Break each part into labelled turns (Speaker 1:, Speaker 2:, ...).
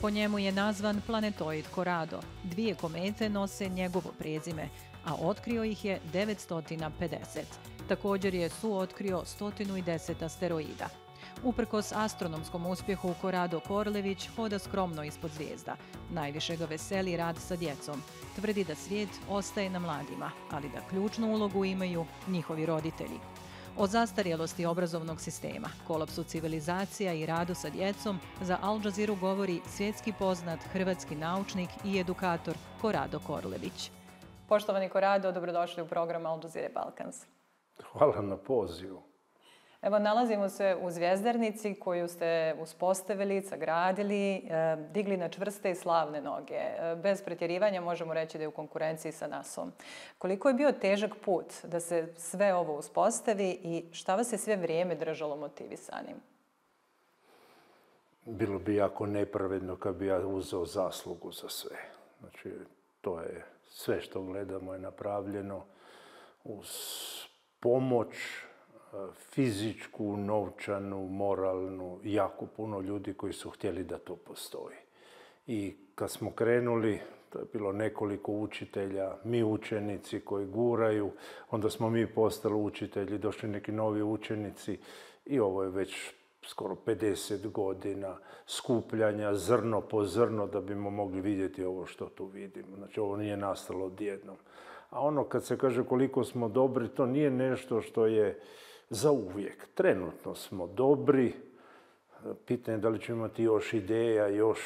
Speaker 1: Po njemu je nazvan planetoid Corrado. 2 komete nose njegovo prezime, a otkrio ih je 950. Također je suotkrio 110 asteroida. Uprkos astronomskom uspjehu, Corrado Korlević hoda skromno ispod zvijezda. Najviše ga veseli rad sa djecom. Tvrdi da svijet ostaje na mladima, ali da ključnu ulogu imaju njihovi roditelji. O zastarjelosti obrazovnog sistema, kolapsu civilizacija i radu sa djecom za Al Jazeera govori svjetski poznat hrvatski naučnik i edukator Corrado Korlević. Poštovani Corrado, dobrodošli u program Al Jazeera Balkans.
Speaker 2: Hvala na pozivu.
Speaker 1: Evo, nalazimo se u zvjezdarnici koju ste uspostavili, sagradili, digli na čvrste i slavne noge. Bez pretjerivanja možemo reći da je u konkurenciji sa NASA-om. Koliko je bio težak put da se sve ovo uspostavi i šta vas je sve vrijeme držalo motivisanim?
Speaker 2: Bilo bi jako nepravedno kad bi ja uzeo zaslugu za sve. Znači, to je sve što gledamo je napravljeno uz pomoć fizičku, novčanu, moralnu, jako puno ljudi koji su htjeli da to postoji. I kad smo krenuli, to je bilo nekoliko učitelja, mi učenici koji guraju, onda smo mi postali učitelji, došli neki novi učenici i ovo je već skoro 50 godina skupljanja zrno po zrno da bimo mogli vidjeti ovo što tu vidimo. Znači, ovo nije nastalo odjednom. A ono kad se kaže koliko smo dobri, to nije nešto što je za uvijek. Trenutno smo dobri. Pitanje je da li ćemo imati još ideja, još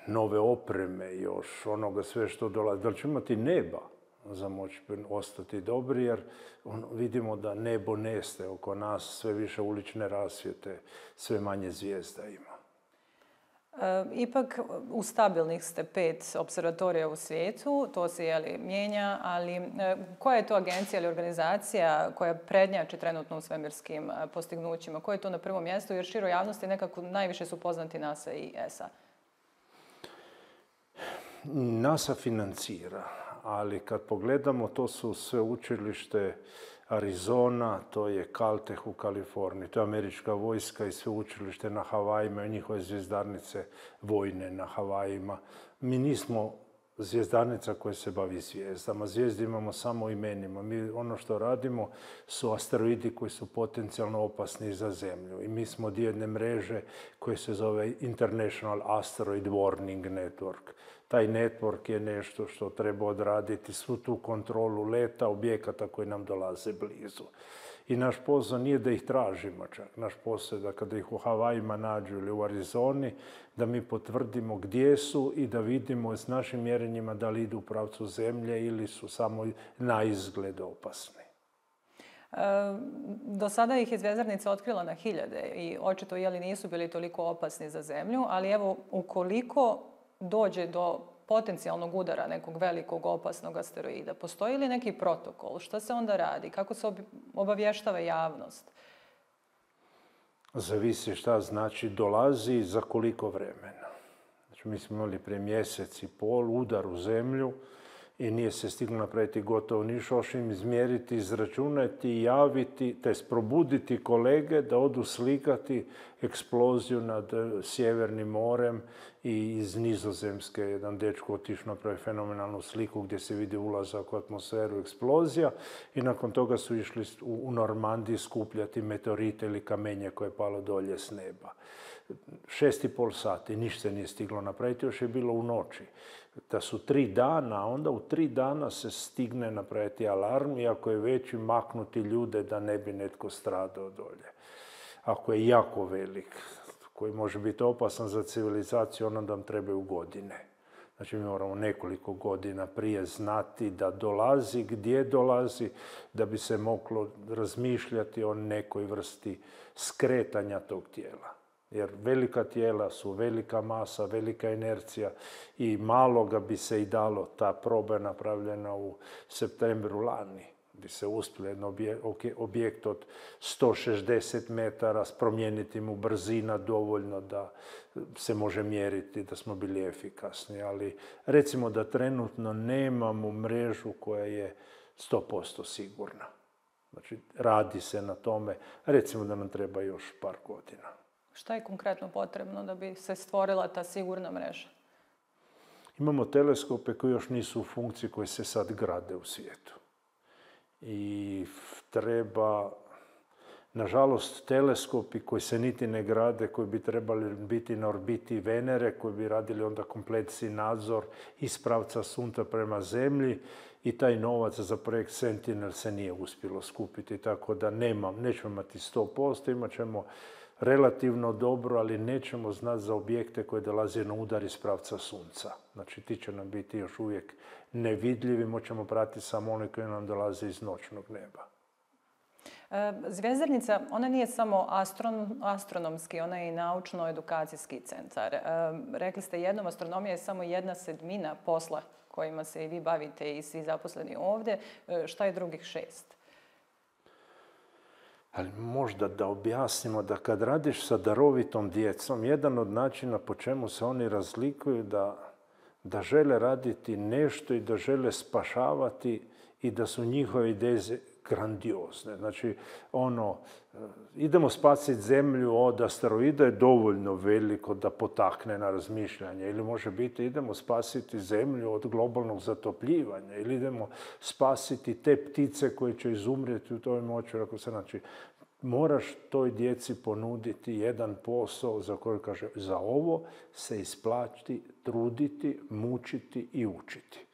Speaker 2: nove opreme, još onoga sve što dolazi. Da li ćemo imati neba za moći ostati dobri, jer vidimo da nebo nestaje oko nas, sve više ulične rasvjete, sve manje zvijezda ima.
Speaker 1: Ipak u stabilnih ste 5 observatorija u svijetu, to se mijenja, ali koja je to agencija ili organizacija koja prednjači trenutno u svemirskim postignućima? Koja je to na prvom mjestu? Jer široj javnosti nekako najviše su poznati NASA i ESA.
Speaker 2: NASA financira, ali kad pogledamo, to su sveučilište Arizona, to je Caltech u Kaliforniji, to je američka vojska i sveučilište na Havajima i njihove zvjezdarnice vojne na Havajima. Mi nismo zvjezdarnica koja se bavi zvijezdama. Zvijezde imamo samo imenima. Mi ono što radimo su asteroidi koji su potencijalno opasni za Zemlju. I mi smo dio jedne mreže koja se zove International Asteroid Warning Network. Taj network je nešto što treba odraditi svu tu kontrolu leta objekata koji nam dolaze blizu. I naš posao nije da ih tražimo čak. Naš posao je da kada ih u Havajima nađu ili u Arizoni, da mi potvrdimo gdje su i da vidimo s našim mjerenjima da li idu u pravcu Zemlje ili su samo na izgled opasni.
Speaker 1: Do sada ih je zvjezdarnica otkrila na hiljade i očito nisu bili toliko opasni za Zemlju, ali evo, ukoliko dođe do potencijalnog udara nekog velikog opasnog asteroida, postoji li neki protokol? Šta se onda radi? Kako se obavještava javnost?
Speaker 2: Zavisi šta znači dolazi i za koliko vremena. Znači, mi smo imali prije mjesec i pol udar u Zemlju i nije se stiglo napraviti gotovo ništa, osim izmjeriti, izračunati, javiti, te probuditi kolege da odu slikati eksploziju nad Sjevernim morem i iz Nizozemske jedan dečko otišao napraviti fenomenalnu sliku gdje se vidi ulazak u atmosferu, eksplozija i nakon toga su išli u Normandiji skupljati meteorite ili kamenje koje je palo dolje s neba. 6,5 sati, ništa se nije stiglo napraviti, još je bilo u noći. Da su 3 dana, onda u 3 dana se stigne napraviti alarm, iako je već maknuti ljude da ne bi netko stradao dolje. Ako je jako velik, koji može biti opasan za civilizaciju, onda nam trebaju godine. Znači, mi moramo nekoliko godina prije znati da dolazi, gdje dolazi, da bi se moglo razmišljati o nekoj vrsti skretanja tog tijela. Jer velika tijela su velika masa, velika inercija i malo ga bi se i dalo. Ta proba je napravljena u septembru lani, gdje se uspjelo jedan objekt od 160 metara promijeniti mu brzina dovoljno da se može mjeriti, da smo bili efikasni. Ali recimo da trenutno nemamo mrežu koja je 100% sigurna. Znači, radi se na tome. Recimo da nam treba još par godina.
Speaker 3: Šta je konkretno potrebno da bi se stvorila ta sigurna mreža?
Speaker 2: Imamo teleskope koji još nisu u funkciji, koji se sad grade u svijetu. I treba, nažalost, teleskopi koji se niti ne grade, koji bi trebali biti na orbiti Venere, koji bi radili onda kompletni nadzor iz pravca Sunca prema Zemlji, i taj novac za projekt Sentinel se nije uspjelo skupiti, tako da nećemo imati 100%, imat ćemo relativno dobro, ali nećemo znati za objekte koji dolaze na udar iz pravca Sunca. Znači, ti će nam biti još uvijek nevidljivi, moćemo pratiti samo one koji nam dolaze iz noćnog neba.
Speaker 3: Zvjezdarnica, ona nije samo astronomski, ona je i naučno-edukacijski centar. Rekli ste jednom, astronomija je samo 1/7 posla kojima se i vi bavite i svi zaposleni ovdje. Šta je drugih 6?
Speaker 2: Ali možda da objasnimo da kad radiš sa darovitom djecom, jedan od načina po čemu se oni razlikuju da žele raditi nešto i da žele spašavati i da su njihove ideje grandiozne. Znači, idemo spasiti Zemlju od asteroida je dovoljno veliko da potakne na razmišljanje. Ili može biti idemo spasiti Zemlju od globalnog zatopljivanja. Ili idemo spasiti te ptice koje će izumrijeti u toj moći. Znači, moraš toj djeci ponuditi jedan posao za koji kaže za ovo se isplati truditi, mučiti i učiti.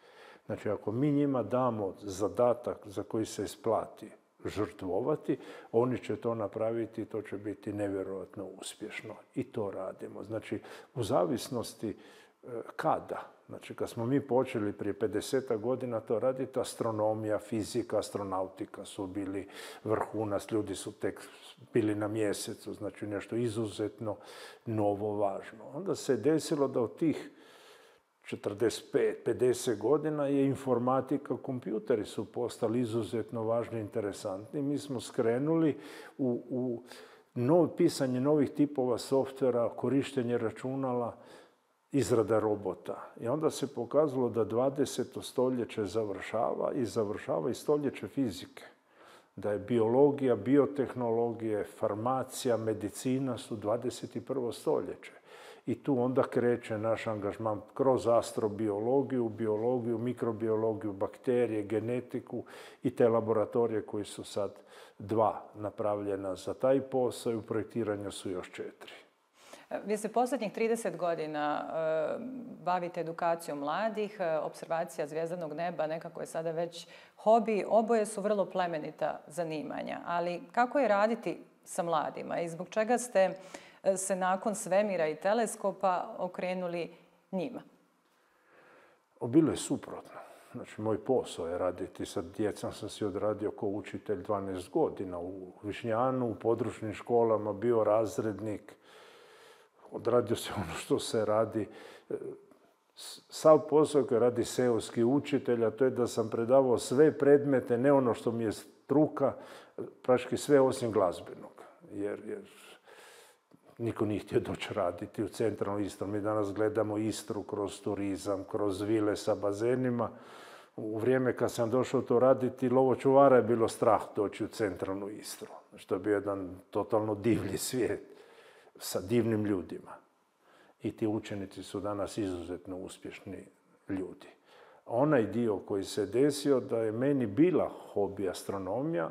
Speaker 2: Znači, ako mi njima damo zadatak za koji se isplati žrtvovati, oni će to napraviti i to će biti nevjerojatno uspješno. I to radimo. Znači, u zavisnosti kada. Znači, kad smo mi počeli prije 50 godina to raditi, astronomija, fizika, astronautika su bili vrhunac, ljudi su tek bili na mjesecu, znači nešto izuzetno novo, važno. Onda se desilo da od tih 45, 50 godina je informatika, kompjuteri su postali izuzetno važni i interesantni. Mi smo skrenuli u pisanje novih tipova softvera, korištenje računala, izrada robota. I onda se pokazalo da 20. stoljeće završava i stoljeće fizike. Da je biologija, biotehnologije, farmacija, medicina su 21. stoljeće. I tu onda kreće naš angažman kroz astrobiologiju, biologiju, mikrobiologiju, bakterije, genetiku i te laboratorije koji su sad 2 napravljena za taj posao i u projektiranju su još 4.
Speaker 3: Vi se posljednjih 30 godina bavite edukacijom mladih, observacija zvjezdanog neba nekako je sada već hobi, oboje su vrlo plemenita zanimanja. Ali kako je raditi sa mladima i zbog čega ste se nakon svemira i teleskopa okrenuli njima?
Speaker 2: Bilo je suprotno. Znači, moj posao je raditi sa djecom, sam si odradio kao učitelj 12 godina u Višnjanu, u područnim školama, bio razrednik. Odradio se ono što se radi. Sav posao koji radi seoski učitelj, a to je da sam predavao sve predmete, ne ono što mi je struka, praktički sve osim glazbenog. Jer niko nije htio doći raditi u centralnu Istru. Mi danas gledamo Istru kroz turizam, kroz vile sa bazenima. U vrijeme kad sam došao to raditi, lovočuvara je bilo strah doći u centralnu Istru. Što je bio jedan totalno divlji svijet sa divnim ljudima. I ti učenici su danas izuzetno uspješni ljudi. Onaj dio koji se desio da je meni bila hobi astronomija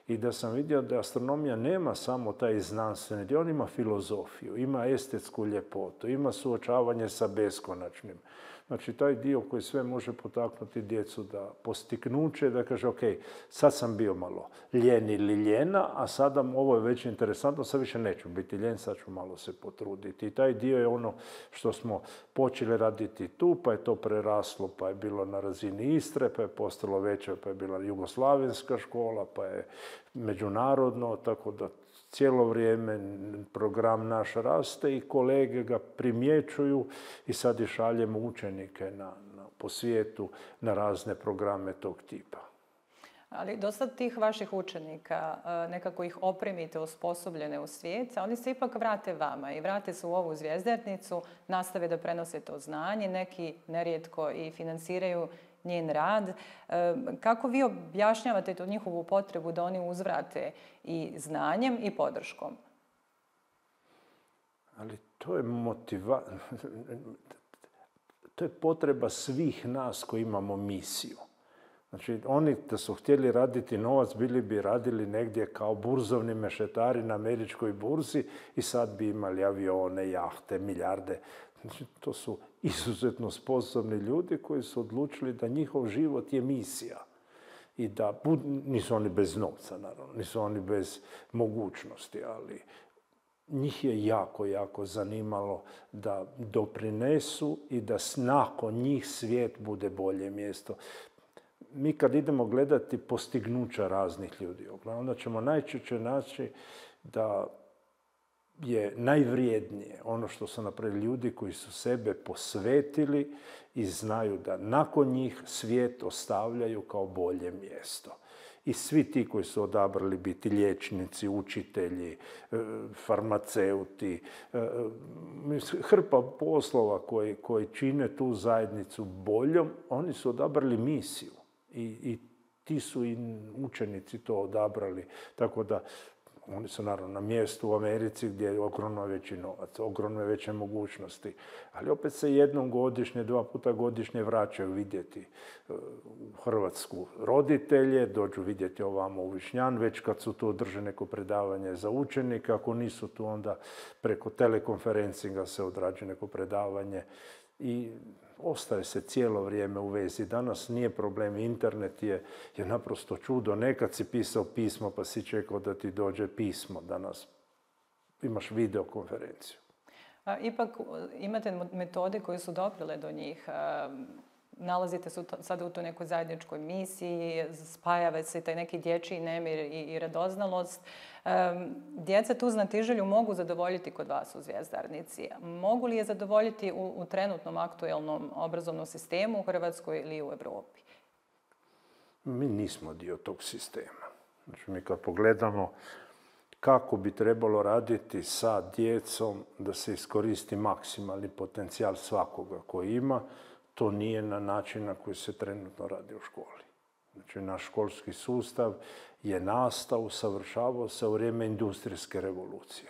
Speaker 2: i da sam vidio da astronomija nema samo taj znanstveni dio, on ima filozofiju, ima estetsku ljepotu, ima suočavanje sa beskonačnim. Znači, taj dio koji sve može potaknuti djecu da postignuće, da kaže, ok, sad sam bio malo ljen ili ljena, a sada ovo je već interesantno, sad više neću biti ljen, sad ću malo se potruditi. I taj dio je ono što smo počeli raditi tu, pa je to preraslo, pa je bilo na razini Istre, pa je postalo veće, pa je bila jugoslavenska škola, pa je međunarodno, tako da cijelo vrijeme program naš raste i kolege ga primjećuju i sad i šaljemo učenike po svijetu na razne programe tog tipa.
Speaker 3: Ali dosta tih vaših učenika, nekako ih opremite, osposobljene u svijet, a oni se ipak vrate vama i vrate se u ovu zvjezdarnicu, nastave da prenose to znanje, neki nerijetko i financiraju njen rad. Kako vi objašnjavate tu njihovu potrebu da oni uzvrate i znanjem i podrškom?
Speaker 2: Ali to je to je potreba svih nas koji imamo misiju. Znači, oni da su htjeli raditi novac, bili bi radili negdje kao burzovni mešetari na američkoj burzi i sad bi imali avione, jahte, milijarde. Znači, to su izuzetno sposobni ljudi koji su odlučili da njihov život je misija. I da, nisu oni bez novca, naravno, nisu oni bez mogućnosti, ali njih je jako, jako zanimalo da doprinesu i da nakon njih svijet bude bolje mjesto. Mi kad idemo gledati postignuća raznih ljudi, onda ćemo najčešće naći da je najvrijednije ono što su napravili ljudi koji su sebe posvetili i znaju da nakon njih svijet ostavljaju kao bolje mjesto. I svi ti koji su odabrali biti liječnici, učitelji, farmaceuti, hrpa poslova koji čine tu zajednicu boljom, oni su odabrali misiju. I ti su i učenici to odabrali. Tako da oni su naravno na mjestu u Americi gdje je ogromno veći novac, ogromno veće mogućnosti. Ali opet se jednom godišnje, 2 puta godišnje vraćaju vidjeti u Hrvatsku roditelje, dođu vidjeti ovamo u Višnjan, već kad su tu drže neko predavanje za učenike, ako nisu tu onda preko telekonferencinga se odrađuje neko predavanje i ostaje se cijelo vrijeme u vezi. Danas nije problem, internet je naprosto čudo. Nekad si pisao pismo pa si čekao da ti dođe pismo. Danas imaš videokonferenciju.
Speaker 3: Ipak imate metode koje su doprile do njih. Nalazite se sada u toj nekoj zajedničkoj misiji, spajava se taj neki dječji nemir i radoznalost. Djeca tu znatiželju mogu zadovoljiti kod vas u Zvjezdarnici. Mogu li je zadovoljiti u trenutnom aktuelnom obrazovnom sistemu u Hrvatskoj ili u Europi?
Speaker 2: Mi nismo dio tog sistema. Znači, mi kad pogledamo kako bi trebalo raditi sa djecom da se iskoristi maksimalni potencijal svakoga koji ima, to nije na način na koji se trenutno radi u školi. Znači, naš školski sustav je nastao, usavršavao se u vrijeme industrijske revolucije.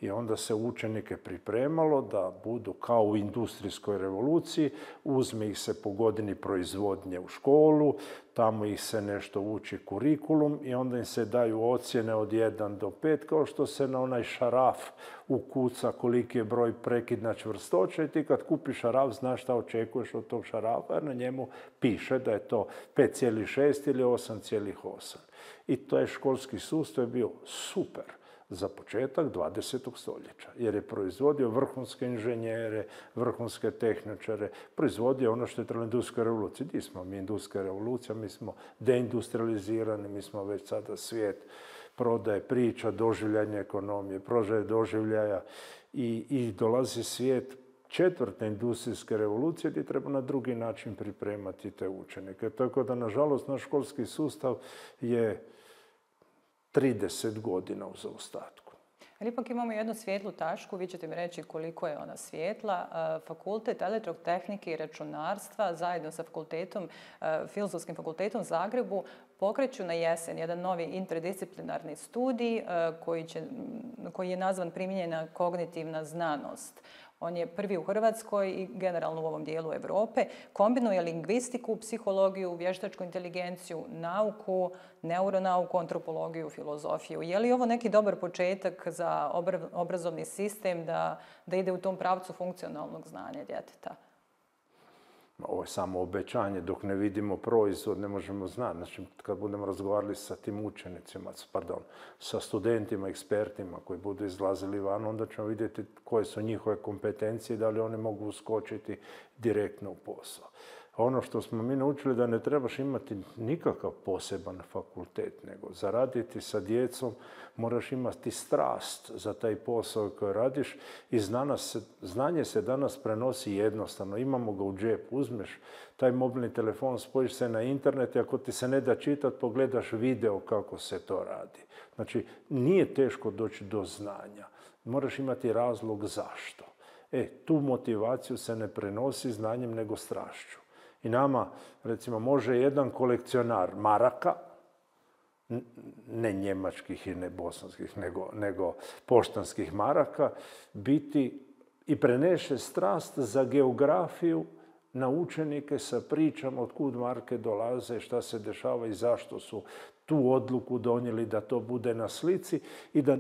Speaker 2: I onda se učenike pripremalo da budu kao u industrijskoj revoluciji, uzme ih se po godini proizvodnje u školu, tamo ih se nešto uči kurikulum i onda im se daju ocjene od 1 do 5, kao što se na onaj šaraf ukuca koliki je broj prekidna čvrstoća i ti kad kupiš šaraf znaš šta očekuješ od tog šarafa jer na njemu piše da je to 5,6 ili 8,8. I to je školski sustav bio super za početak 20. stoljeća, jer je proizvodio vrhunske inženjere, vrhunske tehničare, proizvodio ono što je trebalo industrijska revolucija. Gdje smo mi industrijska revolucija, mi smo deindustrializirani, mi smo već sada svijet prodaje, priča, doživljanja ekonomije, prožaje doživljaja i dolazi svijet 4. industrijske revolucije gdje treba na drugi način pripremati te učenike. Tako da, nažalost, naš školski sustav je 30 godina u zaostatku.
Speaker 3: Ali ipak imamo jednu svijetlu tačku, vi ćete mi reći koliko je ona svijetla. Fakultet elektrotehnike i računarstva zajedno sa Filozofskim fakultetom u Zagrebu pokreću na jesen jedan novi interdisciplinarni studij koji je nazvan primijenjena kognitivna znanost. On je prvi u Hrvatskoj i generalno u ovom dijelu Europe. Kombinuje lingvistiku, psihologiju, vještačku inteligenciju, nauku, neuronauku, antropologiju, filozofiju. Je li ovo neki dobar početak za obrazovni sistem da ide u tom pravcu funkcionalnog znanja djeteta?
Speaker 2: Ovo je samo obećanje. Dok ne vidimo proizvod, ne možemo znati. Znači, kad budemo razgovarali sa tim učenicima, sa studentima, ekspertima koji budu izlazili van, onda ćemo vidjeti koje su njihove kompetencije i da li one mogu uskočiti direktno u posao. Ono što smo mi naučili da ne trebaš imati nikakav poseban fakultet, nego za raditi sa djecom moraš imati strast za taj posao koji radiš i znanje se danas prenosi jednostavno. Imamo ga u džepu, uzmeš taj mobilni telefon, spojiš se na internet i ako ti se ne da čitati, pogledaš video kako se to radi. Znači, nije teško doći do znanja. Moraš imati razlog zašto. Tu motivaciju se ne prenosi znanjem nego strašću. I nama, recimo, može jedan kolekcionar maraka ne njemačkih i ne bosanskih, nego poštanskih maraka, biti i preneše strast za geografiju na učenike sa pričama od kud marke dolaze, šta se dešava i zašto su tu odluku donijeli da to bude na slici i da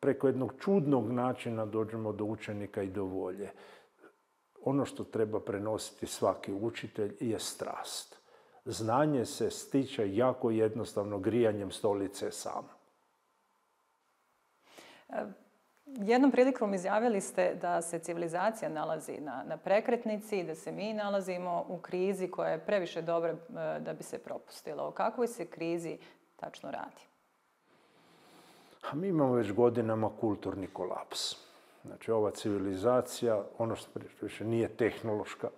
Speaker 2: preko jednog čudnog načina dođemo do učenika i do volje. Ono što treba prenositi svaki učitelj je strast. Znanje se stiče jako jednostavno grijanjem stolice sam.
Speaker 3: Jednom prilikom izjavili ste da se civilizacija nalazi na prekretnici i da se mi nalazimo u krizi koja je previše dobra da bi se propustila. O kakvoj se krizi tačno radi?
Speaker 2: A mi imamo već godinama kulturni kolaps. Znači, ova civilizacija, ono što više nije tehnološka,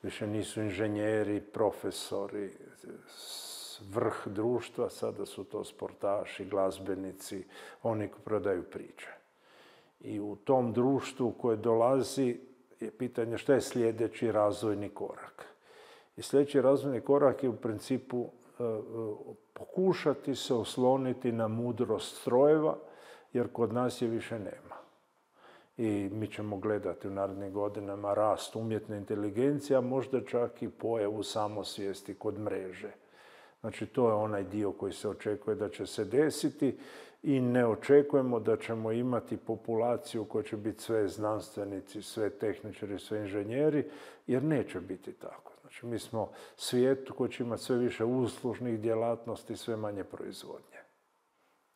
Speaker 2: više nisu inženjeri, profesori, vrh društva, sada su to sportaši, glazbenici, oni koji prodaju priče. I u tom društvu koje dolazi je pitanje šta je sljedeći razvojni korak. I sljedeći razvojni korak je u principu pokušati se osloniti na mudrost strojeva, jer kod nas je više nema. I mi ćemo gledati u narednim godinama rast umjetne inteligencije, a možda čak i pojavu samosvijesti kod mreže. Znači, to je onaj dio koji se očekuje da će se desiti i ne očekujemo da ćemo imati populaciju koja će biti sve znanstvenici, sve tehničari, sve inženjeri, jer neće biti tako. Znači, mi smo svijet koji će imati sve više uslužnih djelatnosti, sve manje proizvodnje.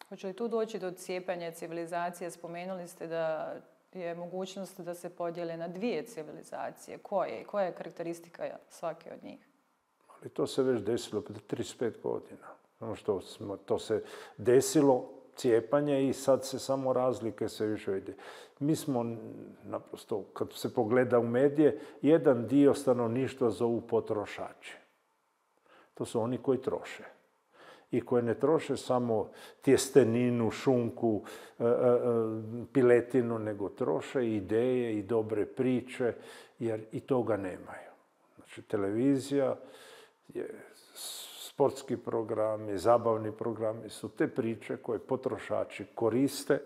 Speaker 3: Hoće li tu doći do cijepanja civilizacije? Spomenuli ste da je mogućnost da se podijele na dvije civilizacije. Koje? Koja je karakteristika svake od njih?
Speaker 2: Ali to se već desilo prije 35 godina. To se desilo, cijepanje, i sad se samo razlike sve više vidi. Mi smo, naprosto, kad se pogleda u medije, jedan dio stanovništva zovu potrošači. To su oni koji troše. I koji ne troše samo tjesteninu, šunku, piletinu, nego troše ideje i dobre priče, jer i toga nemaju. Znači, televizija, sportski programi, zabavni programi su te priče koje potrošači koriste,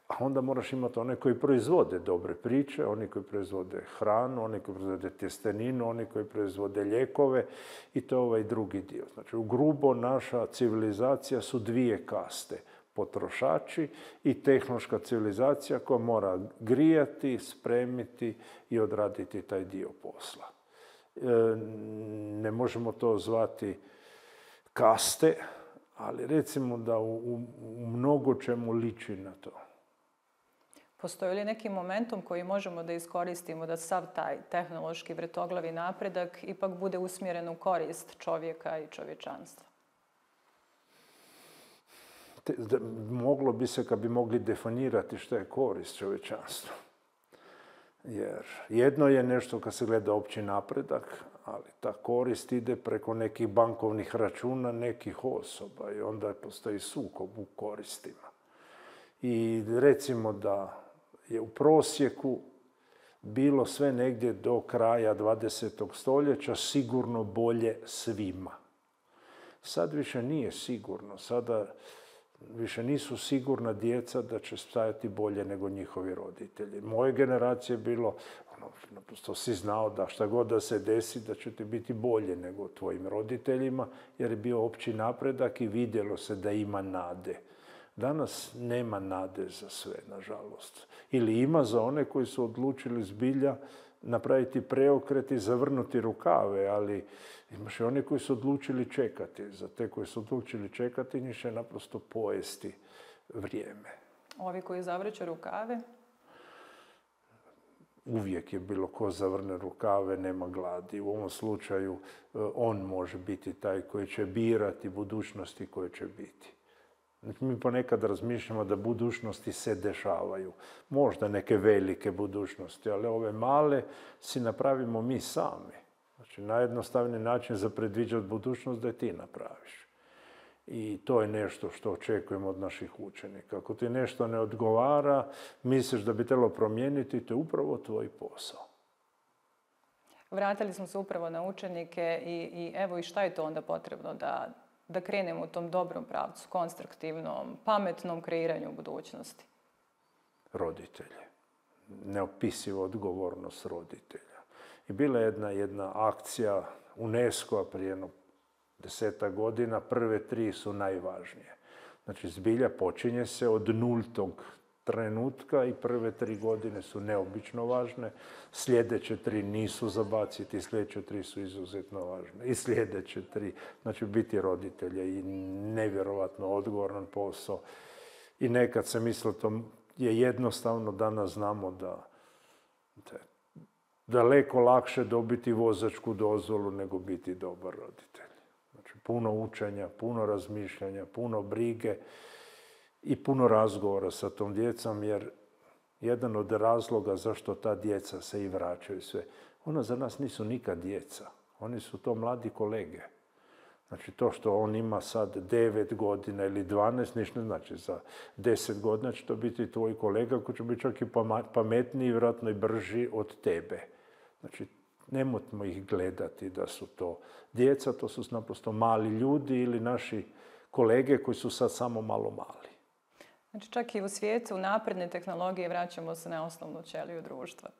Speaker 2: a onda moraš imati one koji proizvode dobre priče, oni koji proizvode hranu, oni koji proizvode tjesteninu, oni koji proizvode lijekove, i to je ovaj drugi dio. Znači, u grubo naša civilizacija su dvije kaste. Potrošači i tehnološka civilizacija koja mora grijati, spremiti i odraditi taj dio posla. Ne možemo to zvati kaste, ali recimo da u mnogo čemu liči na to.
Speaker 3: Postoji li neki momentum koji možemo da iskoristimo da sav taj tehnološki vrtoglavi napredak ipak bude usmjeren u korist čovjeka i čovječanstva?
Speaker 2: Moglo bi se, kad bi mogli definirati što je korist čovječanstva. Jer jedno je nešto kad se gleda opći napredak, ali ta korist ide preko nekih bankovnih računa nekih osoba i onda postoji sukob u koristima. I recimo da je u prosjeku bilo sve negdje do kraja 20. stoljeća sigurno bolje svima. Sad više nije sigurno. Sada više nisu sigurna djeca da će stajati bolje nego njihovi roditelji. Moje generacije je bilo, naprosto si znao da šta god da se desi, da će ti biti bolje nego tvojim roditeljima, jer je bio opći napredak i vidjelo se da ima nade. Danas nema nade za sve, nažalost. Ili ima za one koji su odlučili zbilja napraviti preokret i zavrnuti rukave, ali imaš i oni koji su odlučili čekati. Za te koji su odlučili čekati, njih će naprosto pojesti vrijeme.
Speaker 3: Ovi koji zavrću rukave?
Speaker 2: Uvijek je bilo ko zavrne rukave, nema gladi. U ovom slučaju on može biti taj koji će birati budućnosti koje će biti. Mi ponekad razmišljamo da budućnosti se dešavaju. Možda neke velike budućnosti, ali ove male si napravimo mi sami. Znači, najjednostavniji način za predviđati budućnost da je ti napraviš. I to je nešto što očekujemo od naših učenika. Ako ti nešto ne odgovara, misliš da bi trebalo promijeniti, to je upravo tvoj posao.
Speaker 3: Vratili smo se upravo na učenike i evo i šta je to onda potrebno da krenemo u tom dobrom pravcu, konstruktivnom, pametnom kreiranju budućnosti?
Speaker 2: Roditelje. Neopisiva odgovornost roditelja. I bila je jedna akcija UNESCO-a prije 10 godina, prve 3 su najvažnije. Znači, zbilja počinje se od nultog trenutka i prve 3 godine su neobično važne. Sljedeće 3 nisu zabaciti, sljedeće 3 su izuzetno važne. I sljedeće 3, znači biti roditelje i nevjerovatno odgovoran posao. I nekad se mislilo to je jednostavno, danas znamo da je daleko lakše dobiti vozačku dozvolu nego biti dobar roditelj. Znači, puno učenja, puno razmišljanja, puno brige i puno razgovora sa tom djecom, jer jedan od razloga zašto ta djeca se i vraćaju sve, ona za nas nisu nikad djeca. Oni su to mladi kolege. Znači, to što on ima sad 9 godina ili 12, ništa ne znači. Za 10 godina će to biti tvoj kolega koji će biti čak i pametniji, vjerojatno i brži od tebe. Znači, nemojmo ih gledati da su to djeca, to su naprosto mali ljudi ili naši kolege koji su sad samo malo mali.
Speaker 3: Znači, čak i u svijetu napredne tehnologije vraćamo se na osnovnu ćeliju društva.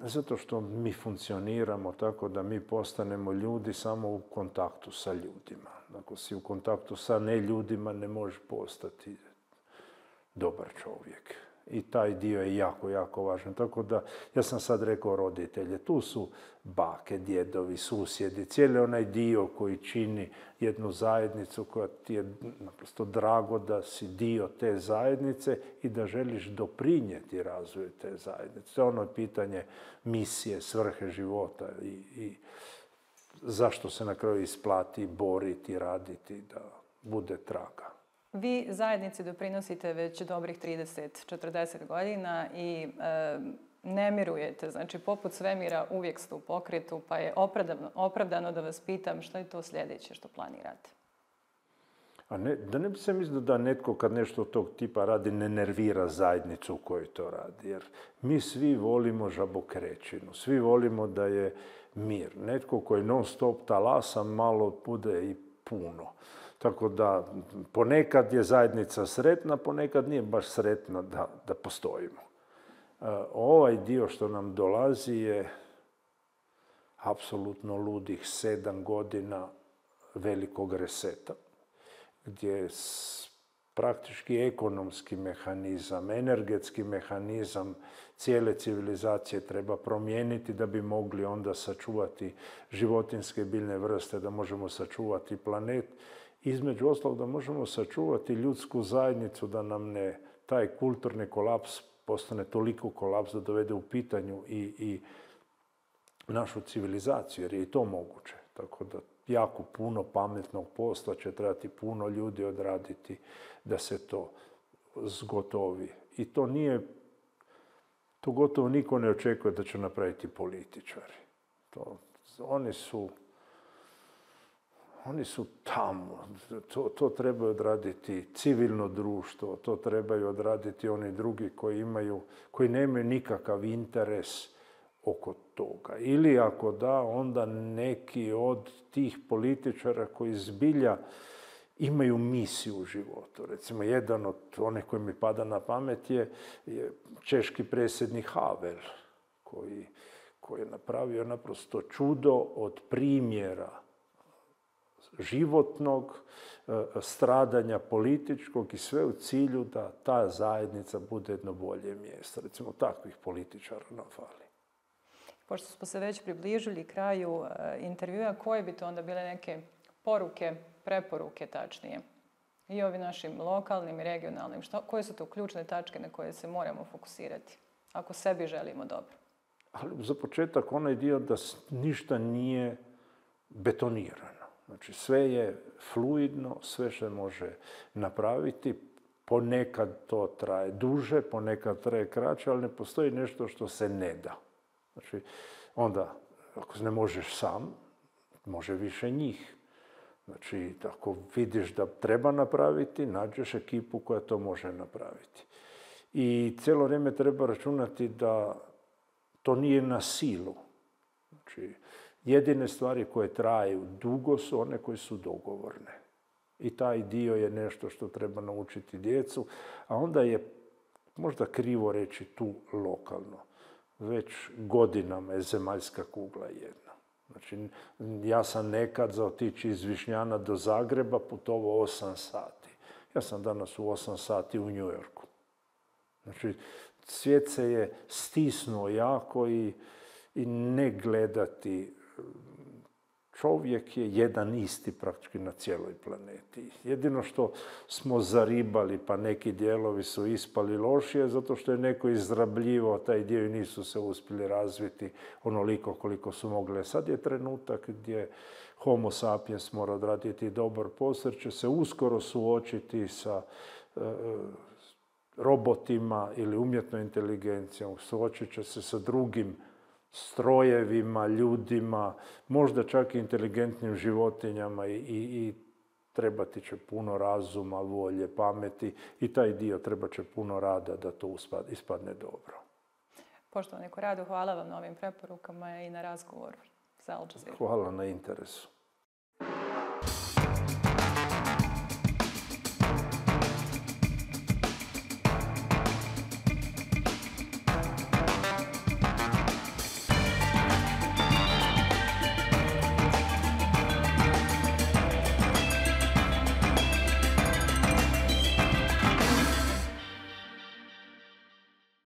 Speaker 2: Zato što mi funkcioniramo tako da mi postanemo ljudi samo u kontaktu sa ljudima. Ako si u kontaktu sa neljudima, ne možeš postati dobar čovjek. I taj dio je jako, jako važan. Tako da, ja sam sad rekao roditelje, tu su bake, djedovi, susjedi, cijeli onaj dio koji čini jednu zajednicu koja ti je naprosto drago da si dio te zajednice i da želiš doprinijeti razvoju te zajednice. To je ono pitanje misije, svrhe života i zašto se na kraju isplati boriti, raditi, da bude traga.
Speaker 3: Vi zajednici doprinosite već dobrih 30-40 godina i ne mirujete. Znači, poput svemira uvijek ste u pokretu, pa je opravdano da vas pitam što je to sljedeće što planirate.
Speaker 2: Da ne bi se mislio da netko kad nešto tog tipa radi ne nervira zajednicu u kojoj to radi. Jer mi svi volimo žabokrećinu, svi volimo da je mir. Netko koji non stop talasa malo bude i puno. Tako da ponekad je zajednica sretna, ponekad nije baš sretna da postojimo. Ovaj dio što nam dolazi je apsolutno ludih 7 godina velikog reseta, gdje praktički ekonomski mehanizam, energetski mehanizam cijele civilizacije treba promijeniti da bi mogli onda sačuvati životinjske biljne vrste, da možemo sačuvati planet. Između ostalog da možemo sačuvati ljudsku zajednicu, da nam taj kulturni kolaps postane toliko kolaps da dovede u pitanju i našu civilizaciju, jer je i to moguće. Tako da jako puno pametnog posla će trebati puno ljudi odraditi da se to zgotovi. I to gotovo niko ne očekuje da će napraviti političari. Oni su tamo. To trebaju odraditi civilno društvo, to trebaju odraditi oni drugi koji nemaju nikakav interes oko toga. Ili ako da, onda neki od tih političara koji zbilja imaju misiju u životu. Recimo, jedan od onih koji mi pada na pamet je češki predsjednik Havel, koji je napravio naprosto čudo od primjera životnog stradanja političkog i sve u cilju da ta zajednica bude jedno bolje mjesto. Recimo, takvih političara nam fali.
Speaker 3: Pošto smo se već približili kraju intervjua, koje bi to onda bile neke poruke, preporuke tačnije? I ovim našim lokalnim i regionalnim. Koje su to ključne tačke na koje se moramo fokusirati ako sebi želimo dobro?
Speaker 2: Ali za početak onaj dio da ništa nije betonirano. Znači, sve je fluidno, sve se može napraviti. Ponekad to traje duže, ponekad traje kraće, ali ne postoji nešto što se ne da. Znači, onda, ako ne možeš sam, može više njih. Znači, ako vidiš da treba napraviti, nađeš ekipu koja to može napraviti. I cijelo vrijeme treba računati da to nije na silu. Znači, Jedine stvari koje traju dugo su one koje su dogovorne. I taj dio je nešto što treba naučiti djecu, a onda je možda krivo reći tu lokalno. Već godinama je zemaljska kugla jedna. Znači, ja sam nekad za otići iz Višnjana do Zagreba putovao 8 sati. Ja sam danas u 8 sati u New Yorku. Znači, svijet se je stisnuo jako i ne gledati. Čovjek je jedan isti praktički na cijeloj planeti. Jedino što smo zaribali, pa neki dijelovi su ispali lošije, zato što je neko izrabljivao taj dio i nisu se uspjeli razviti onoliko koliko su mogle. Sad je trenutak gdje Homo sapiens mora odraditi dobar posao, jer će se uskoro suočiti sa robotima ili umjetnom inteligencijom, suočit će se sa drugim strojevima, ljudima, možda čak i inteligentnim životinjama i trebati će puno razuma, volje, pameti i taj dio trebat će puno rada da to ispadne dobro.
Speaker 3: Poštovani Korado, hvala vam na ovim preporukama i na razgovoru sa Al Jazeera.
Speaker 2: Hvala na interesu.